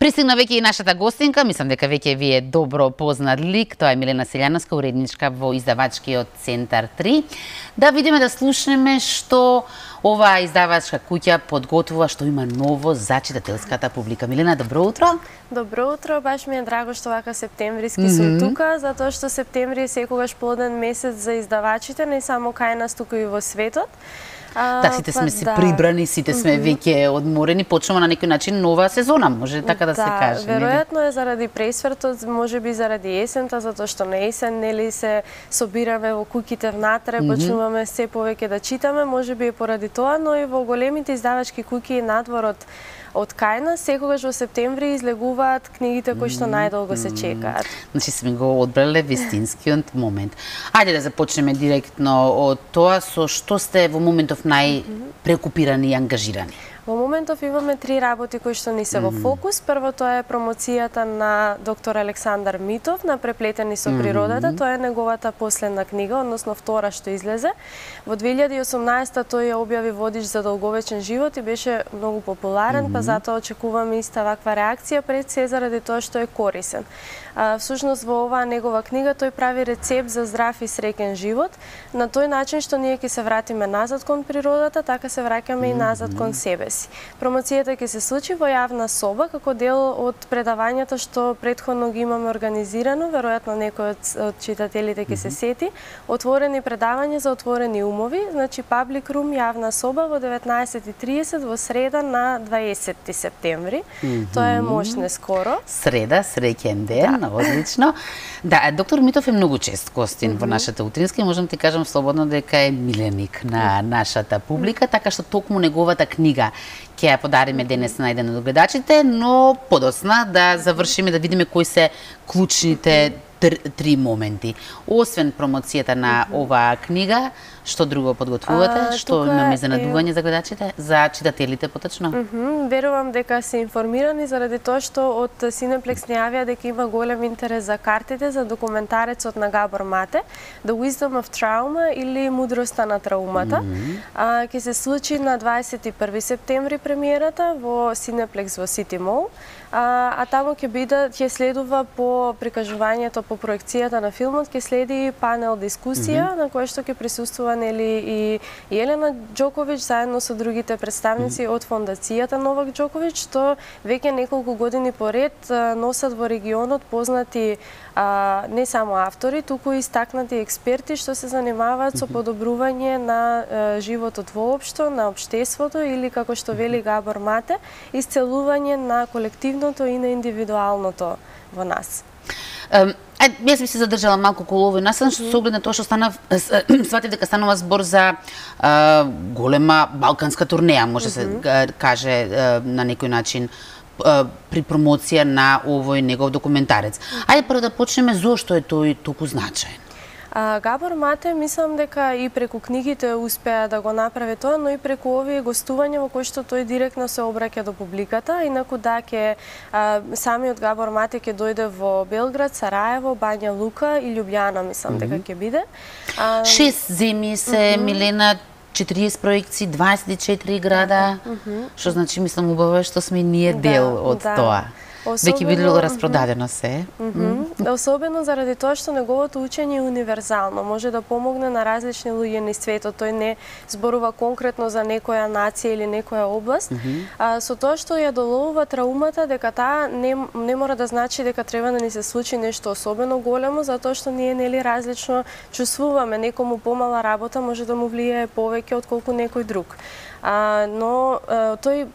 Пристигна веќе и нашата гостинка, мислам дека веќе ви е добро познат лик, тоа е Милена Селјановска, уредничка во издавачкиот Центар 3. Да видиме, да слушнеме што оваа издавачка куќа подготвува, што има ново за читателската публика. Милена, добро утро. Добро утро, баш ми е драго што вака септемвриски сум тука, затоа што септември е секогаш плоден месец за издавачите, не само кај нас, туку и во светот. Да, сите сме си прибрани, сите сме веќе одморени, почнува на некој начин нова сезона, може така да се каже. Веројатно е заради пресвртот, можеби заради есента, затоа што на есен нели се собираме во куќите внатре, почнуваме се повеќе да читаме, можеби е поради тоа, но и во големите издавачки куќи и надворот од кај нас, секогаш во септември излегуваат книгите кои што најдолго се чекаат. Значи сме го одбрале вистинскиот момент. Ајде да започнеме директно од тоа, со што сте во моментов најпреокупирани и ангажирани? Во моментов имаме 3 работи кои што ни се во фокус. Првото е промоцијата на доктор Александар Митов на Преплетени со природата. Тоа е неговата последна книга, односно втора што излезе. Во 2018 тој ја објави Водич за долговечен живот и беше многу популарен, па затоа очекуваме иста ваква реакција пред се заради тоа што е корисен. Всушност во оваа негова книга тој прави рецепт за здрав и среќен живот, на тој начин што ние ќе се вратиме назад кон природата, така се враќаме и назад кон себе си. Промоцијата ќе се случи во јавна соба како дел од предавањата што претходно ги имаме организирано, веројатно некој од читателите ќе се сети, отворени предавања за отворени умови, значи Public Room, јавна соба во 19:30 во среда на 20 септември. Тоа е мощне скоро. Среда, среќен ден, одлично. Да, доктор Митов е многу чест гостин во нашата утринска и можам да ти кажам слободно дека е миленик на нашата публика, така што токму неговата книга ќе ја подариме денес на еден од гледачите, но подосна да завршиме, да видиме кои се клучните 3 моменти. Освен промоцијата на оваа книга, што друго подготвувате? Што имаме за надување за гледачите, за читателите поточно? Верувам дека се информирани заради тоа што од Cineplex не јавија дека има голем интерес за картите за документарецот на Габор Мате, The Wisdom of Trauma или Мудроста на траумата. Ќе се случи на 21 септември премиерата во Cineplex во City Mall. А таму ќе следува по прикажувањето, по проекцијата на филмот, ќе следи панел дискусија на која што ќе присуствува нели и Елена Џоковиќ заедно со другите представници од фондацијата Новак Џоковиќ, што веќе неколку години поред носат во регионот познати не само автори, туку и истакнати експерти што се занимаваат со подобрување на животот воопшто, на општеството или како што вели Габор Мате, исцелување на колективното и на индивидуалното во нас. Јас би се задржала малку околу овој настран, што се оглед на тоа што сватив дека станува збор за голема балканска турнеја, може се каже на некој начин при промоција на овој негов документарец. Ајде прво да почнеме зошто е тој толку значаен. Габор Мате, мислам дека и преку книгите успеа да го направи тоа, но и преку овие гостувања во кои што тој директно се обраќа до публиката. Инаку да, самиот Габор Мате ќе дојде во Белград, Сараево, Бања Лука и Љубљана, мислам дека ќе биде. 6 земји се, Милена, 40 проекции, 24 града, што значи, мислам, убаво што сме и ние дел од тоа. Веќе било распродадено се. Особено заради тоа што неговото учење е универзално, може да помогне на различни луѓе низ светот. Тој не зборува конкретно за некоја нација или некоја област. Со тоа што ја доловува траумата, дека таа не мора да значи дека треба да ни се случи нешто особено големо, затоа што ние нели различно чувствуваме. Некому помала работа може да му влијае повеќе отколку некој друг. Но тој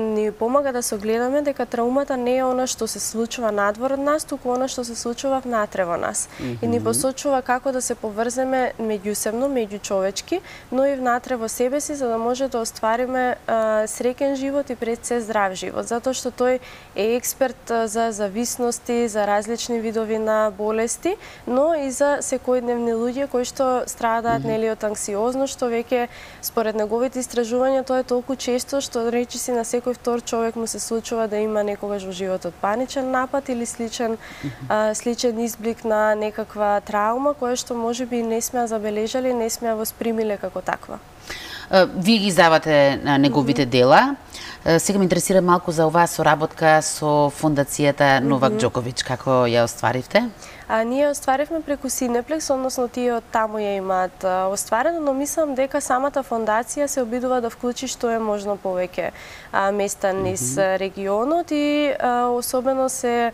ни помага да се огледаме дека траумата не е она што се случува надвор од нас, туку она што се случува внатре во нас. И ни посочува како да се поврземе меѓусебно, меѓучовечки, но и внатре во себе си, за да може да оствариме среќен живот и пред се здрав живот. Затоа што тој е експерт за зависности, за различни видови на болести, но и за секојдневни луѓе кои што страдаат нели од анксиозност, што веќе според неговите истражувања тоа е толку често што речиси на секој втор човек му се случува да има некогаш во животот паничен напад или сличен изблик на некаква траума која што можеби не сме ја забележале, не сме ја воспримиле како таква. Вие ги издавате неговите дела. Сега ме интересира малку за оваа соработка со фондацијата Новак Џоковиќ. Како ја остваривте? Ние остваривме преку Cineplex, односно тие од таму ја имаат остварено, но мислам дека самата фондација се обидува да вклучи што е можно повеќе места низ регионот и особено се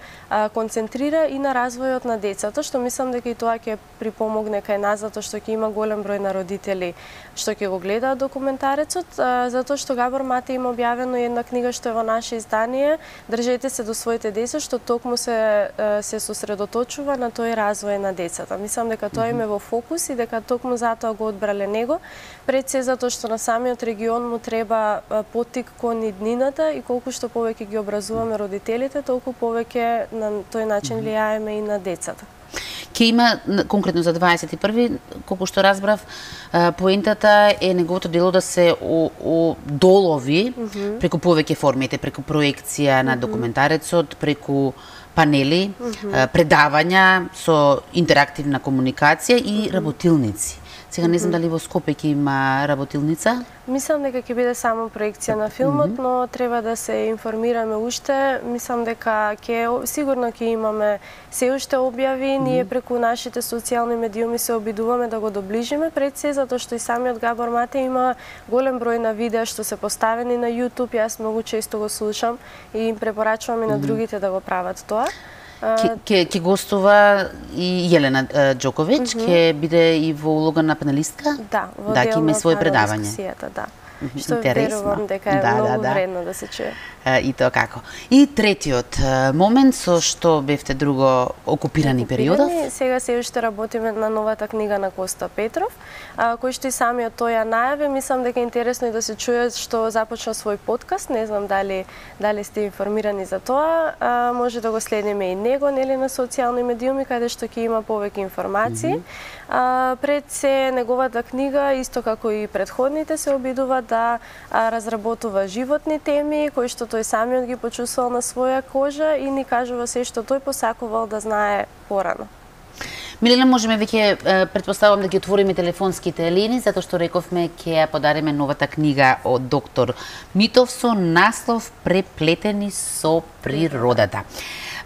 концентрира и на развојот на децата, што мислам дека и тоа ќе припомогне кај нас, затоа што ќе има голем број на родители што ќе го гледаат документарецот, затоа што Габор Мате има објавено една книга што е во наше издание, Држете се до своите деца, што токму се сосредоточува на тој развој на децата. Мислам дека тоа им е во фокус и дека токму затоа го одбрале него, пред се затоа што на самиот регион му треба поттик кон иднината и колку што повеќе ги образуваме родителите, толку повеќе на тој начин влијаеме и на децата. Ке има, конкретно за 21-ви, колку што разбрав, поентата е неговото дело да се долови преку повеќе формите, преку проекција на документарецот, преку панели, предавања со интерактивна комуникација и работилници. Сега не знам дали во Скопје ќе има работилница? Мислам дека ќе биде само проекција на филмот, но треба да се информираме уште. Мислам дека сигурно ќе имаме се уште објави. Ние преку нашите социјални медиуми се обидуваме да го доближиме пред се, затоа што и самиот Габор Мате има голем број на видеа што се поставени на YouTube. Јас многу често го слушам и им препорачувам и на другите да го прават тоа. Ќе гостува и Јелена Џоковиќ, ќе биде и во улога на панелистка? Да, во дел на има свој предавање. Дискусијата, да. Што верувам дека е многу вредно да се чуе. И тоа како. И третиот момент со што бевте друго окупирани периодов? Сега се уште работиме на новата книга на Коста Петров, кој што и самиот тој ја најави. Мислам дека е интересно и да се чуе што започна свој подкаст. Не знам дали сте информирани за тоа. Може да го следиме и него, нели, на социјални медиуми, каде што ќе има повеќе информации. Пред се неговата книга, исто како и предходните, се обидува да разработува животни теми, кои што тој самиот ги почувствувал на своја кожа и ни кажува се што тој посакувал да знае порано. Милена, можеме веќе претпоставувам да ги отвориме телефонските линии, затоа што рековме ќе ја подариме новата книга од доктор Митов со наслов Преплетени со природата.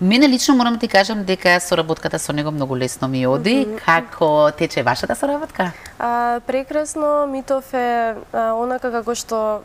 Мене лично морам да ти кажам дека соработката со него многу лесно ми оди. Како тече вашата соработка? Прекрасно. Митов е онака како што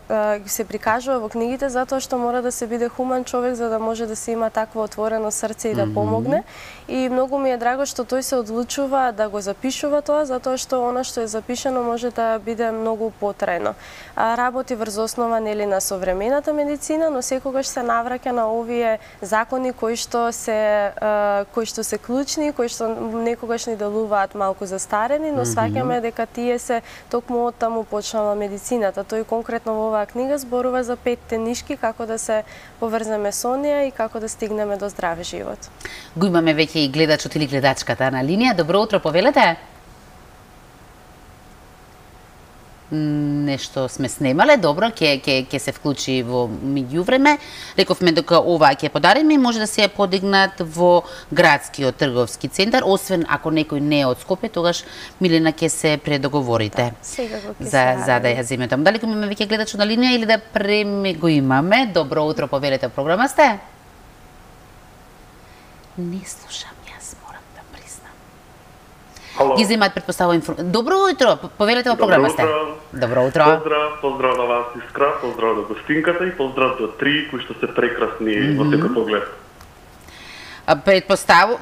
се прикажува во книгите, затоа што мора да се биде хуман човек за да може да се има такво отворено срце и да помогне. И многу ми е драго што тој се одлучува да го запишува тоа, затоа што она што е запишано може да биде многу потрајно. Работи врз основа нели на современата медицина, но секогаш се навраќа на овие закони кои што се клучни, кои што некогаш ни делуваат малку застарени, но сваќаме дека тие се токму од таму почнала медицината. Тој конкретно во оваа книга зборува за 5 нишки како да се поврземе со неа и како да стигнеме до здрав живот. Го имаме веќе и гледачот или гледачката на линија. Добро утро, повелете. Нешто сме снемале, добро, ќе се вклучи во меѓувреме. Рековме дека оваа ќе подариме и може да се ја подигнат во градскиот трговски центар, освен ако некој не е од Скопје, тогаш Милена ќе се предоговорите за да ја земе таму. Дали имаме веќе гледачот на линија или да го имаме? Добро утро, повелете, програма сте? Не слушам. Ги земаат предпоставува информација. Добро утро, повелете во програма сте. Добро утро. Поздрав на вас, Искра, поздрав на гостинката и поздрав до три кои што се прекрасни во секој поглед.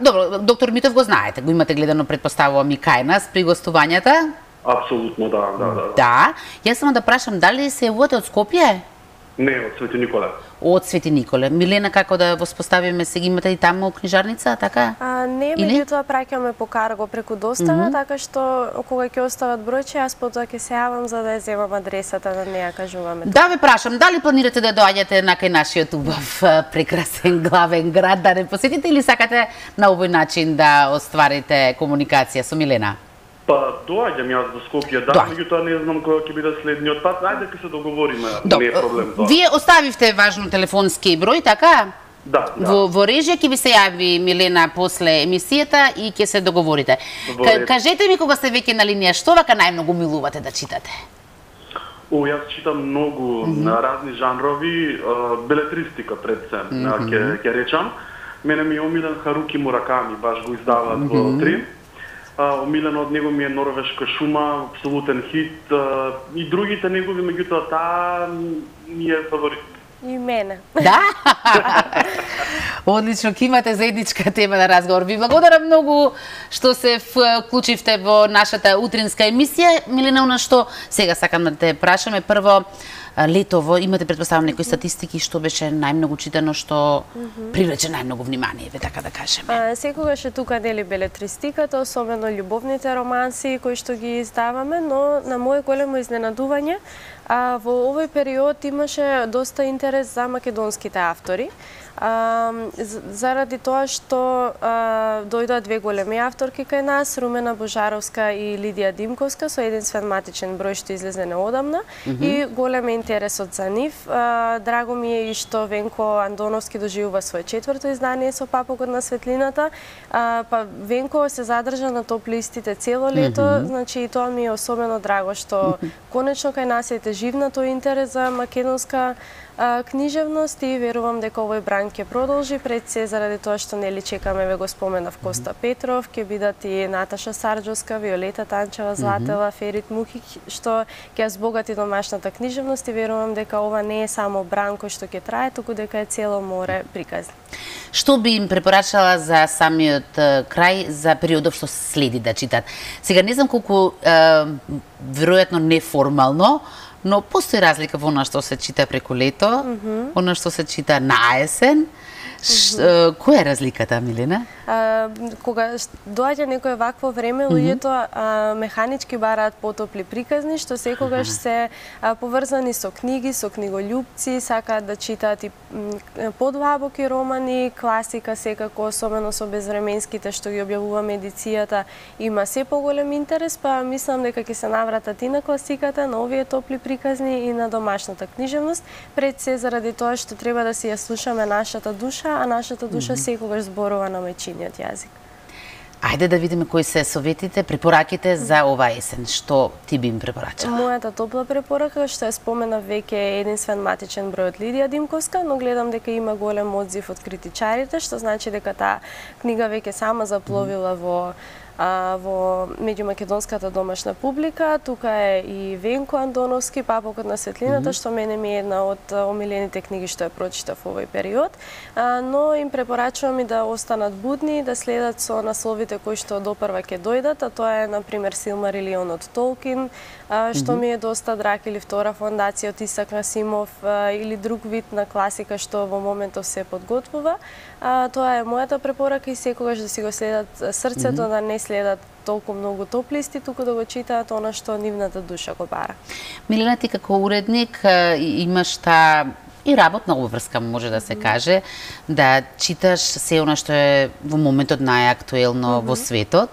Добро, доктор Митов го знаете, го имате гледано, предпоставувам и кај нас при гостувањата? Апсолутно, да. Да, јас само да прашам, дали се јавувате од Скопје? Не, од Свети Николе. Од Свети Николе. Милена, како да воспоставиме, сега имате и таму книжарница, така? Не, меѓутоа праќаме по карго преку достава, така што кога ќе остават бројче, јас потоа ќе се јавам за да ја земам адресата, да не ја кажуваме. Да ве прашам, дали планирате да доаѓате на кај нашиот убав прекрасен главен град, да не посетите или сакате на овој начин да остварите комуникација со Милена? Па, доаѓам јас до Скопје, да, меѓутоа не знам кога ќе биде следниот пат. Ајде ќе се договориме, не е проблем тоа. Вие оставивте важно телефонски број, така? Да. Во режија ќе ви се јави Милена после емисијата и ќе се договорите. Кажете ми кога сте веќе на линија, што вака најмногу милувате да читате? Јас читам многу разни жанрови, белетристика пред се, ќе речам. Мене ми е омилен Харуки Мураками, баш го издаваат во 3. Омилен од него ми е Норвешка шума, апсолутен хит, и другите негови, меѓутоа таа ми е фаворит. И мене. Да? Одлично, ќе имате заедничка тема на разговор. Ви благодарам многу што се вклучивте во нашата утринска емисија. Милена, она што сега сакам да те прашаме, прво, летово имате претпоставам некои статистики што беше најмногу читано, што привлече најмногу внимание, така да кажеме. Секогаш е тука нели белетристиката, особено љубовните романси кои што ги издаваме, но на мое големо изненадување во овој период имаше доста интерес за македонските автори. Заради тоа што дојдоа две големи авторки кај нас, Румена Божаровска и Лидија Димковска, со еден свенматичен број што излезе неодамна и голем е интересот за нив. Драго ми е и што Венко Андоновски доживува свое 4-то издание со Папокот на светлината. Па Венко се задржа на топ листите цело лето, значи и тоа ми е особено драго што конечно кај нас е теживна тој интерес за македонска книжевност и верувам дека овој бран ќе продолжи, пред се заради тоа што нели чекаме, ве го споменав, Коста Петров, ќе бидат и Наташа Сарџовска, Виолета Танчева, Златева, Ферит Мухич, што ќе збогати домашната книжевност и верувам дека ова не е само бран кој што ќе трае, туку дека е цело море приказни. Што би им препорачала за самиот крај, за периодов што следи да читат? Сега не знам колку веројатно неформално, но постои разлика во она што се чита преку лето, она што се чита на есен. Која е разликата, Милена? Кога доаѓа некое вакво време, луѓето механички бараат потопли приказни, што секогаш се поврзани со книги, со книголюбци, сакаат да читаат и подлабоки романи, класика секако, особено со безвременските што ги објавува медицијата, има се поголем интерес, па мислам дека ќе се навратат и на класиката, на овие топли приказни и на домашната книжевност, пред се заради тоа што треба да си ја слушаме нашата душа, а нашата душа секогаш зборува на мајчиниот јазик. Ајде да видиме кои се советите, препораките за ова есен. Што ти би им препорачала? Мојата топла препорака, што ја споменав веќе, е еден свенматичен број од Лидија Димковска, но гледам дека има голем одзив од критичарите, што значи дека таа книга веќе сама запловила во меѓумакедонската домашна публика. Тука е и Венко Андоновски, Папокот на светлината, што мене ми е една од омилените книги што ја прочитав во овој период. Но им препорачувам и да останат будни, да следат со насловите кои што допрва ќе дојдат, а тоа е, например, Силмарилион од Толкин, што ми е доста драг, или Втора фондација од Исак Насимов, или друг вид на класика што во моментов се подготвува. Тоа е мојата препорака и секогаш да си го следат срцето, да не следат толку многу топлисти, туку да го читаат она што нивната душа го бара. Милена, ти како уредник имаш таа и работна обврска, може да се каже, да читаш се она што е во моментот најактуелно во светот,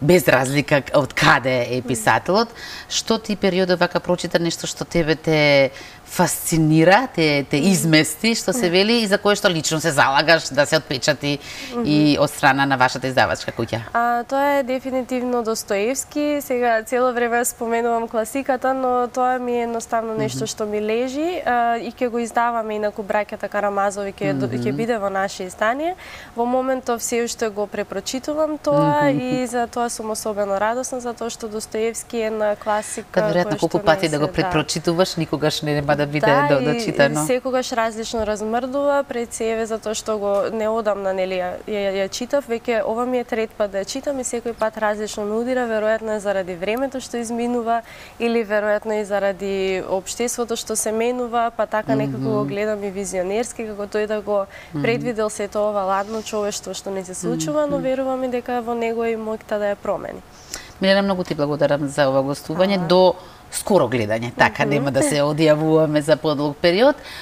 без разлика од каде е писателот. Што ти периодот вака прочита нешто што тебе те фасцинира, те измести, што се вели, и за кое што лично се залагаш да се отпечати и од страна на вашата издавачка куќа? Тоа е дефинитивно Достоевски. Сега цело време споменувам класиката, но тоа ми е едноставно нешто што ми лежи и ќе го издаваме, инаку браќата Карамазови ќе биде во наше издание. Во моментов се уште го препрочитувам тоа и за тоа сум особено радосна, затоа што Достоевски е на класика. Кад веројатно колку пати да го препрочитуваш, никогаш нема да биде дочитано. Да, и секогаш различно размрдува пред себе, затоа што го неодамна нели ја читав, веќе ова ми е трет пат да ја читам и секој пат различно ме удира, веројатно е заради времето што изминува или веројатно и заради општеството што се менува, па така некако го гледам и визионерски, како тој да го предвидел сето ова ладно човештво што не се случува, но верувам и дека во него и моќта да ја промени. Милена, многу ти благодарам за ова гостување. До скоро гледање, така нема да се одјавуваме за подолг период.